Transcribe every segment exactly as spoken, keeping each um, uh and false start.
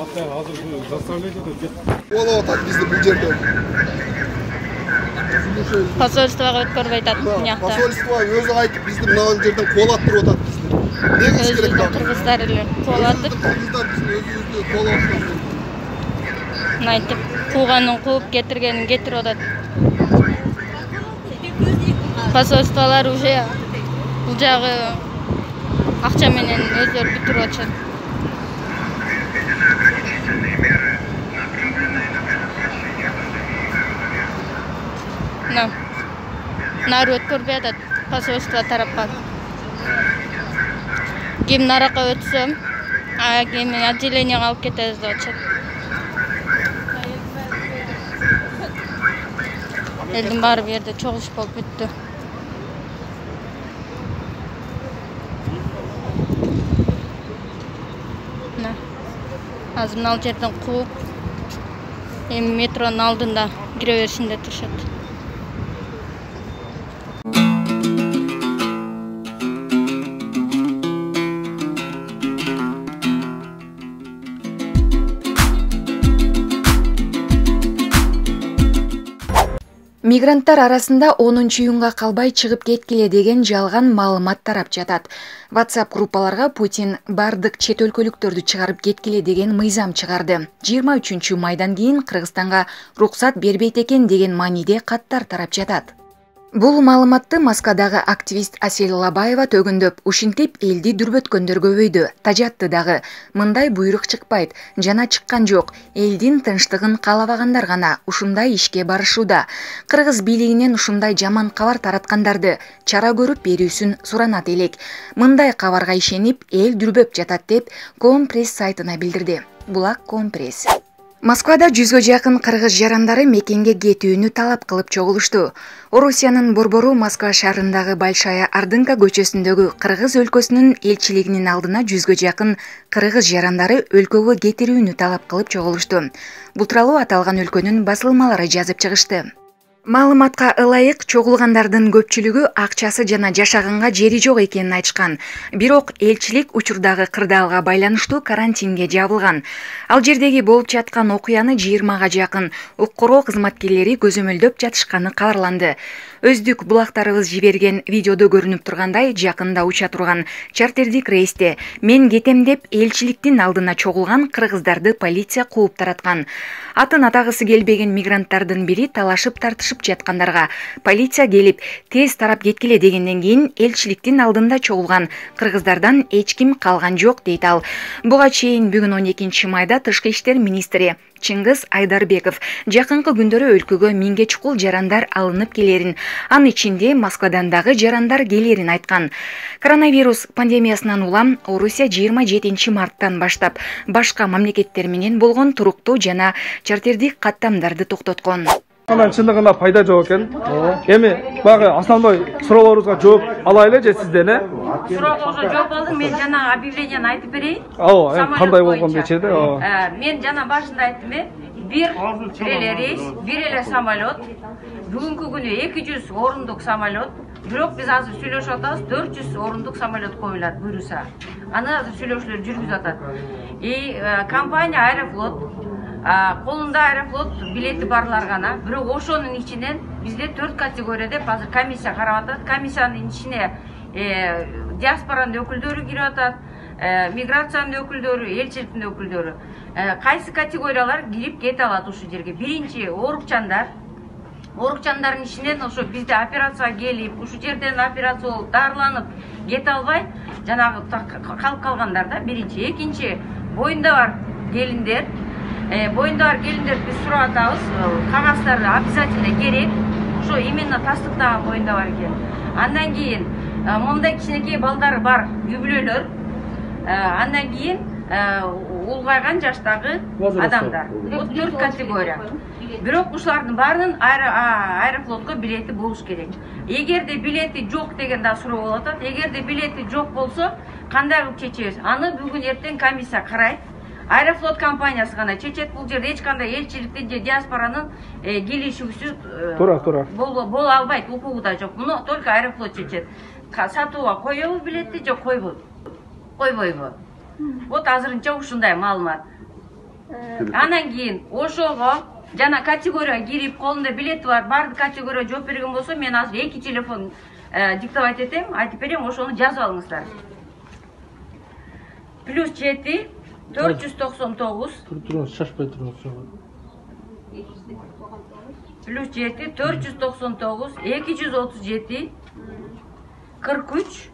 азыр заставление болуп атат бизди бул жерде. Посольствого өткөрбөй атат бунакта. Посольство өзү айтып бизди мына жерден куулап туруп атат бизди. Негиз керек да. Кыргыздар эле куулатып. Кыргыздар бизди өзүбүздү куулап атат. Айтып, кууганын кууп, кетиргенин кетирип атат. Посольстволор уже бул жагы акча менен өздөрү бүтүрүп атышат. Нары өткөрбөй атат посольство тарапка. Ким наракка өтсө, а ким отделениеге алып кетебиз деп атышат. Элдин баары бу жерде чогулуш болуп бүттү. Азыр мына жерден кууп, эми метронун алдында кире беришинде турушат. Мигранттар арасында онунчу июнга калбай чыгып кеткиле деген жалган маалымат тарап жатат. WhatsApp группаларга Путин бардык чет өлкөлүктөрдү чыгарып кеткиле деген мыйзам чыгарды. жыйырма үчүнчү майдан кийин Кыргызстанга уруксат бербейт экен деген мааниде каттар тарап жатат. Бул маалыматты Москвадагы активист Асель Лабаева төгүндөп, ушинтип элди дүрбөткөндөр көбөйдү. Тажатты дагы. Мындай буйрук чыкпайт, жана чыккан жок. Элдин тынчтыгын каалабагандар гана ушундай ишке барышууда. Кыргыз бийлигинен ушундай жаман кабар тараткандарды чара көрүп берүүсүн суранат элек. Мындай кабарга ишенип эл дүрбөп жатат деп Компресс сайтына билдирди. Булак Компресс. Москвада жүзгө жакын кыргыз жарандары мекенге кетүүнү талап кылып чогулушту. Орусиянын борбору Москва шаарындагы Большая Ордынка көчөсүндөгү Кыргыз өлкөсүнүн элчилигинин алдына жүзгө жакын кыргыз жарандары өлкөгө кетирүүнү талап кылып чогулушту. Бул тууралуу аталган өлкөнүн басылмалары жазып чыгышты. Маалыматка ылайык чогулгандардын көпчүлүгү акчасы жана жашаганга жери жок экенин айтышкан. Бирок элчилик учурдагы кырдаалга байланыштуу карантинге жабылган. Ал жердеги болуп жаткан окуяны жыйырмага жакын укук коргоо кызматкерлери көзөмөлдөп жатышканы кабарланды. Өздүк булактарыбыз жиберген видеодо көрүнүп тургандай, жакында уча турган чартердик рейсте мен кетем деп элчиликтин алдына чогулган кыргыздарды полиция кууп тараткан. Атын атагысы келбеген мигранттардын бири талашып тартышып жаткандарга полиция келип тез тарап кеткиле дегенден кийин элчиликтин алдында чогулган кыргыздардан эч ким калган жок дейт ал. Буга чейин бүгүн он экинчи майда Тышкы иштер министри Чыңгыз Айдарбеков жакынкы күндөрү өлкөгө миңге чукул жарандар алынып келерин, анын ичинде Москвадан дагы жарандар келерин айткан. Коронавирус пандемиясынан улам Орусия жыйырма жетинчи марттан баштап башка мамлекеттер менен болгон туруктуу жана чартердик каттамдарды токтоткон. Чындыгында пайда жок экен. Эми багы основной суроолорубузга жооп алайлы же сизден, э? Суроолорго жооп алдым. Мен жана объявлениени айтып берейин. Ооба, кандай болгон дечеди? Мен жана башында айттым, э? Бир эле рейс, бир эле самолет. Бүгүнкү күнү эки жүз орундук самолет. Бирок биз азыр сүйлөшүп атабыз, төрт жүз орундук самолет коюлат буюрса. Аны азыр сүйлөшүүлөр жүргүзүп атат. И компания Аэрофлот колунда Аэрофлот билети барлар гана. Бирок ошонун ичинен бизде төрт категория деп азыр комиссия карап атат. Комиссиянын ичине диаспоранын өкүлдөрү кирип атат, миграциянын өкүлдөрү, элчиликтин өкүлдөрү. Кайсы категориялар кирип кете алат ушул жерге? Биринчи оорукчандар. Оорукчандардын ичинен ошо бизде операцияга келип, ушул жерден операция болуп, дарыланып кете албай, жанагы калып калгандар да биринчи. Экинчи боюнда бар келиндер. Боюнда бар келиндерди биз сурап атабыз, кагаздары обязательно керек. Ошо именно тастыктаган боюнда бар экен. Андан кийин мондай кичинекей балдары бар юбилейлер. Андан кийин улгайган жаштагы адамдар. Бул төрт категория. Бирок ушулардын баарынын Аэрофлотко билети болуш керек. Эгерде билети жок деген да суроо болуп атат. Эгерде билети жок болсо, кандай кылып чечебиз? Аны бүгүн эртең комиссия карайт. Аэрофлот компаниясы гана чечет. Бул жерде эч кандай элчиликтин же диаспоранын келишүүсүз туура туура боло албайт, укугу да жок. Муну только Аэрофлот чечет. Сатууга коебу билетти же койбойбу? Койбойбу. Вот азырынча ушундай маалымат. Анан кийин ошого жана категорияга кирип, колунда билети бар, бардык категорияга жооп берген болсо, мен азыр эки телефон диктовать этем, айтып берем, ошону жазып алыңыздар. Плюс жети төрт жүз токсон тогуз. Туруңуз, шашпай туруңуз. Плюс жети төрт жүз токсон тогуз эки жүз отуз жети кырк үч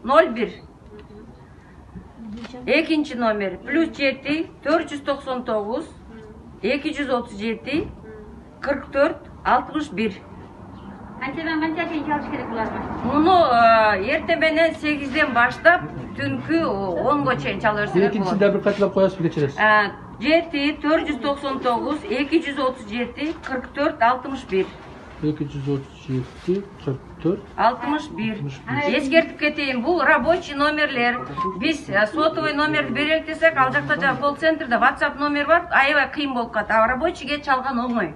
ноль бир. Экинчи номер плюс жети төрт жүз токсон тогуз эки жүз отуз жети кырк төрт алтымыш бир. Канчадан канчага чейин чалыш керек буларга? Муну эртең менен сегизден баштап түнкү онго чейин чала берсеңер болот. Экинчисинде бир кайталап коесузбу, кечиресиз. жети төрт жүз токсон тогуз эки жүз отуз жети кырк төрт алтымыш бир. эки жүз отуз жети кырк төрт алтымыш бир. Эскертип кетейин, бул рабочий номерлер. Биз сотовый номерди берелик десек, ал жакта жана колл центрде WhatsApp номер бар, аябай кыйын болуп калат. А рабочийге чалган оңой.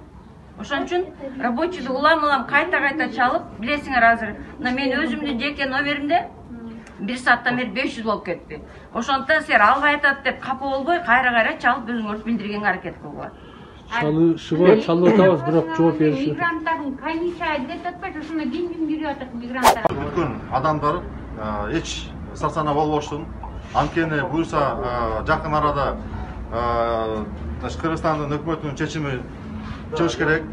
Ошон үчүн рабочийди улам-улам кайта-кайта чалып, билесиңер азыр, мен өзүмдүн жеке номеримде бир сааттан бери беш жүз болуп кетти. Ошондон силер албай атат деп капа болбой, кайра-кайра чалып өзүңөрдү билдиргенге аракет кылгыла. Чалышыга чалып атабыз, бирок жооп бериши. Мигранттардын комиссия деп атпайбы, ушуна ким ким жүрүп атат мигранттар? Бүткөн адамдар эч сарсана болбоштун. Анткени буюрса жакын арада Кыргызстандын өкмөтүнүн чечими чыгыш керек.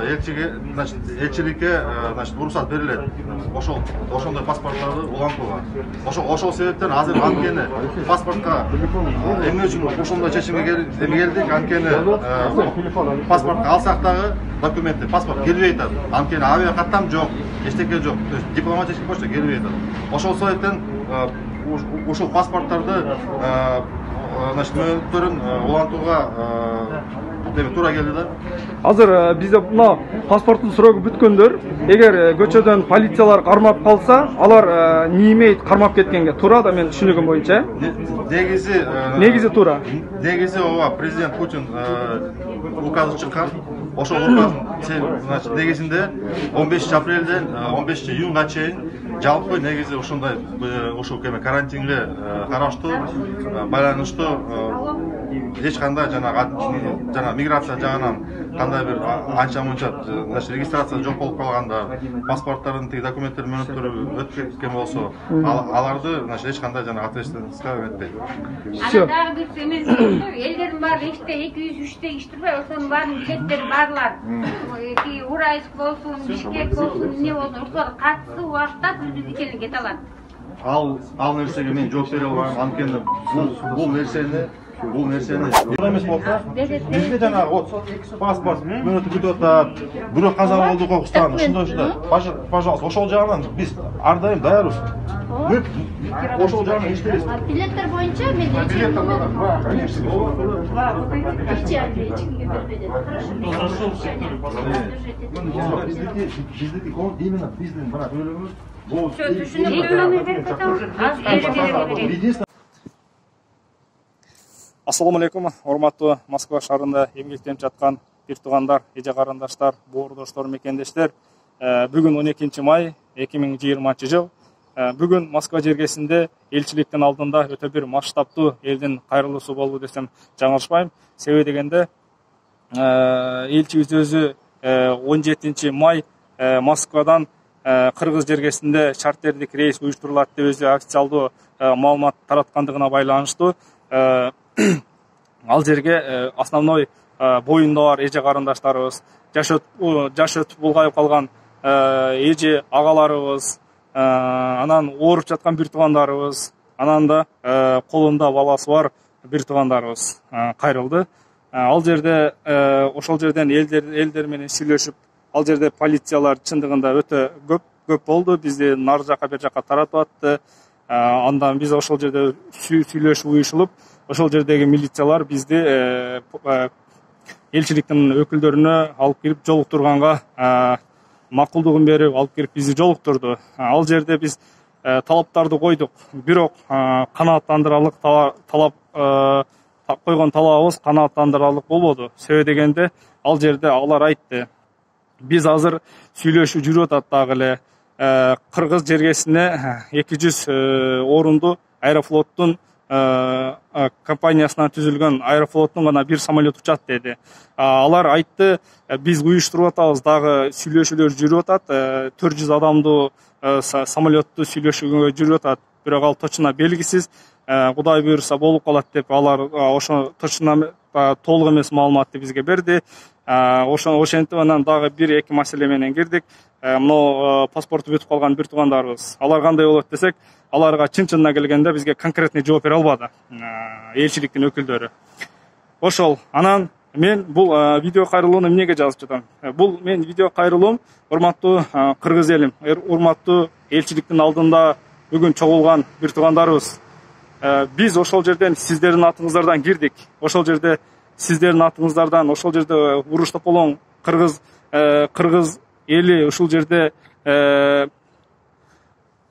Элчиге, значит, элчиликке, значит, уруксат берилет. Ошол, ошондой паспорттарды улантууга. Ошол, ошол себептен азыр анткени паспортко эмне үчүн ошондой чечимге келдик? Анткени паспортко алсак дагы документти, паспорт келбей атат. Анткени авиа каттам жок, эчтеке жок. То есть дипломатический почта келбей атат. Ошол себептен ушул паспорттарды, значит, мөөнөттөрүн улантууга деме туура келди да. Азыр бизде мына паспорттун срогу бүткөндөр, эгер көчөдөн полициялар кармап калса, алар не имеет кармап кеткенге туура да, мен түшүнүгүм боюнча. Негизи негизи туура. Негизи ооба президент Путин указы чыккан. Ошол указ, значит, негизинде он бешинчи апрелден он бешинчи июнга чейин жалпы негизи ошондой ушул кеме карантинге караштуу байланыштуу эч кандай жанагы жана миграция жагынан кандай бир анча мынча, значит, регистрация жок болуп калганда, паспорттардын тиги документтер мөөнөттөрү өтүп кеткен болсо, аларды, значит, эч кандай жана ответственностька эметпейт. Ана дагы бир эме элдердин баары иште эки жүз үчтө иштирбей, ошонун баарынын билеттери барлар. Уральск болсун, Бишкек болсун, эмне болсун, ошолор катысы убакытта президентке кете алат. Ал ал нерсеге мен жооп бере албайм. Анткени бул нерсени бул нерсени эмес болсо, бизде жанагы вот паспорт мөөнөтү күтүп атат, бирок каза болду кокустан, ушундай ушундай. Пожалуйста, ошол жагынан биз ар дайым даярбыз. Ошол жагынан иштейбиз. Билеттер боюнча мен билеттер бар, конечно. Биздики биздики именно биздин мына бөлүгүбүз бул түшүнүк. Ассаламу алейкум, урматтуу Москва шаарында эмгектенип жаткан бир туугандар, эже карындаштар, боордоштор, мекендештер. Бүгүн он экинчи май эки миң жыйырманчы жыл. Бүгүн Москва жергесинде элчиликтин алдында өтө бир масштабтуу элдин кайрылуусу болду десем жаңылышпайм. Себеби дегенде элчибиз өзү он жетинчи май Москвадан Кыргыз жергесинде чартердик рейс уюштурулат деп өзү официалдуу маалымат тараткандыгына байланыштуу ал жерге основной боюнда бар эже карындаштарыбыз, жаш өтүп булгайып калган эже агаларыбыз, анан ооруп жаткан бир туугандарыбыз, анан да колунда баласы бар бир туугандарыбыз кайрылды. Ал жерде ошол жерден элдер элдер менен сүйлөшүп, ал жерде полициялар чындыгында өтө көп көп болду. Бизди нары жака бер жака таратып атты. Андан биз ошол жерде сүйлөшүп уюшулуп, ошол жердеги милициялар бизди элчиликтин өкүлдөрүнө алып кирип жолуктурганга макулдугун берип алып кирип бизди жолуктурду. Ал жерде биз талаптарды койдук, бирок канааттандырарлык талап койгон талабыбыз канааттандырарлык болбоду. Себеби дегенде ал жерде алар айтты, биз азыр сүйлөшүп жүрүп атат дагы эле Кыргыз жергесине эки жүз орунду Аэрофлоттун компаниясынан түзүлгөн Аэрофлоттун гана бир самолет учат деди. Алар айтты, биз уюштуруп атабыз, дагы сүйлөшүүлөр жүрүп атат, төрт жүз адамдуу самолетту сүйлөшүүгө жүрүп атат, бирок ал точно белгисиз. Кудай буйруса болуп калат деп алар ошо точно толук эмес маалыматты бизге берди. Ошо ошентип анан дагы бир эки маселе менен кирдик. Мына паспорту бүтүп калган бир туугандарыбыз. Алар кандай болот десек, аларга чын-чынына келгенде бизге конкретный жооп бере албады элчиликтин өкүлдөрү. Ошол. Анан мен бул видео кайрылууну эмнеге жазып жатам? Бул мен видео кайрылуум урматтуу кыргыз элим, урматтуу элчиликтин алдында бүгүн чогулган бир туугандарыбыз. Биз ошол жерден сиздердин атыңыздардан кирдик. Ошол жерде сиздердин атыңыздардан, ошол жерде уруш тополоң кыргыз кыргыз эли ушул жерде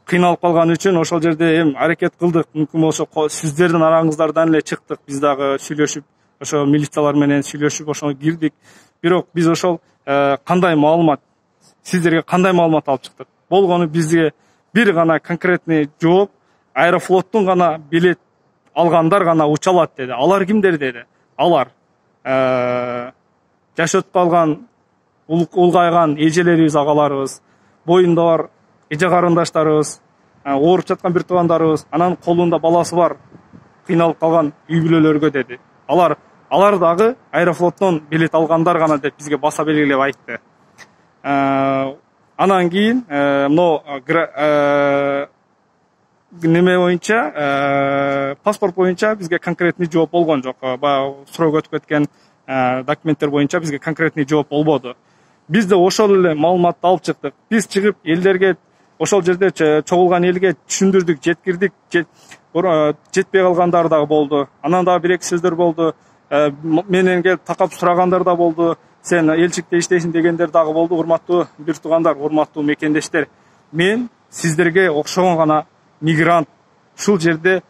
кыйналып калган үчүн ошол жерде эми аракет кылдык. Мүмкүн болсо сиздердин араңыздардан эле чыктык. Биз дагы сүйлөшүп, ошо милициялар менен сүйлөшүп ошо кирдик. Бирок биз ошол кандай маалымат, сиздерге кандай маалымат алып чыктык? Болгону бизге бир гана конкретный жооп, Аэрофлоттун гана билет алгандар гана уча алат деди. Алар кимдер деди? Алар жашөтүп калган, улгайган эжелерибиз, агаларыбыз, боюнда бар эже карындаштарыбыз, ооруп жаткан бир туугандарыбыз, анан колунда баласы бар, кыйналып калган үй бүлөлөргө деди. Алар алар дагы Аэрофлоттон билет алгандар гана деп бизге баса белгилеп айтты. Анан кийин мына неме боюнча, паспорт боюнча бизге конкретный жооп болгон жок. Баягы срок өтүп кеткен документтер боюнча бизге конкретный жооп болбоду. Биз да ошол эле маалыматты алып чыктык. Биз чыгып элдерге, ошол жерде чогулган элге түшүндүрдүк, жеткирдик. Жетпей калгандар дагы болду. Анан дагы бир эки сөздөр болду. Менен келип такап сурагандар да болду. Сен элчикте иштейсиң дегендер дагы болду. Урматтуу бир туугандар, урматтуу мекендештер. Мен сиздерге окшогон гана мигрант, ушул жерде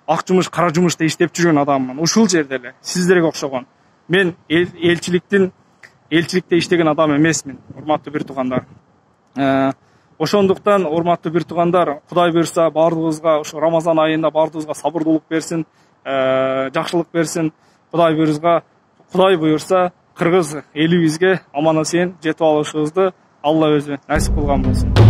ак жумуш, кара жумушта иштеп жүргөн адаммын. Ушул жерде эле сиздерге окшогон. Мен элчиликтин элчиликте иштеген адам эмесмин, урматтуу бир туугандар. Ошондуктан урматтуу бир туугандар, Кудай буйруса баардыгыбызга ошо Рамазан айында баардыгыбызга сабырдуулук берсин, жакшылык берсин. Кудай буйруса, Кудай буйруса кыргыз элибизге аман-эсен жетип алышыбызды Алла өзү насип кылган болсун.